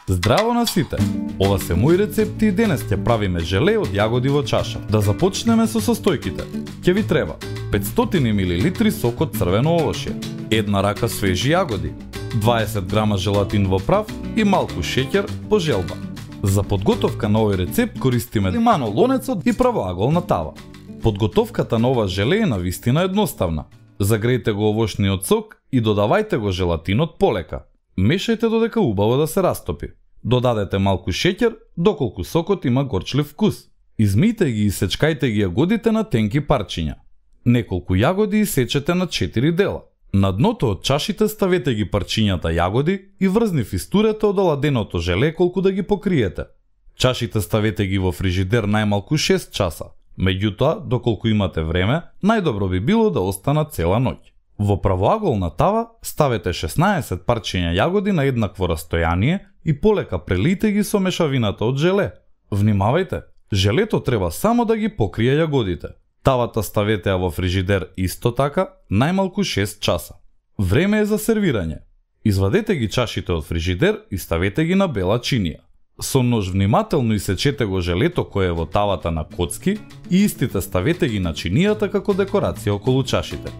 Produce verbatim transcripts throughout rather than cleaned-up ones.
Здраво на сите! Ова се мои рецепти и денес ќе правиме желе од јагоди во чаша. Да започнеме со состојките. Ќе ви треба петстотини милилитри сок од црвено овошје, една рака свежи јагоди, дваесет грама желатин во прав и малку шеќер по желба. За подготовка на овој рецепт користиме лимано лонецот и правоаголна тава. Подготовката на ова желе е навистина едноставна. Загрејте го овошниот сок и додавајте го желатинот полека. Мешајте додека убаво да се растопи. Додадете малку шеќер доколку сокот има горчлив вкус. Измијте ги и сечкајте ги јагодите на тенки парчиња. Неколку јагоди исечете на четири дела. На дното од чашите ставете ги парчињата јагоди и врзни фистурете од оладеното желе колку да ги покриете. Чашите ставете ги во фрижидер најмалку шест часа. Меѓутоа, доколку имате време, најдобро би било да останат цела ноќ. Во правоаголна тава ставете шеснаесет парчиња јагоди на еднакво растојание и полека прелијте ги со мешавината од желе. Внимавајте, желето треба само да ги покрие јагодите. Тавата ставете ја во фрижидер исто така најмалку шест часа. Време е за сервирање. Извадете ги чашите од фрижидер и ставете ги на бела чинија. Со нож внимателно исечете го желето кое е во тавата на коцки и истите ставете ги на чинијата како декорација околу чашите.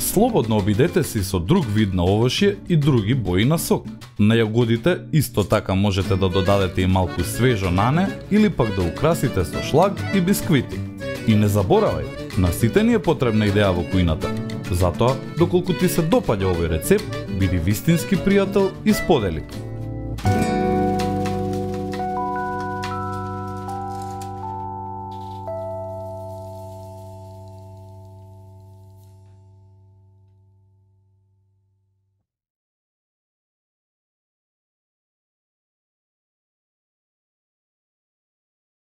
Слободно обидете се со друг вид на овошје и други бои на сок. На јагодите исто така можете да додадете и малку свежо нане или пак да украсите со шлаг и бисквити. И не заборавај, на сите ни е потребна идеја во кујната. Затоа, доколку ти се допаѓа овој рецепт, биди вистински пријател и сподели.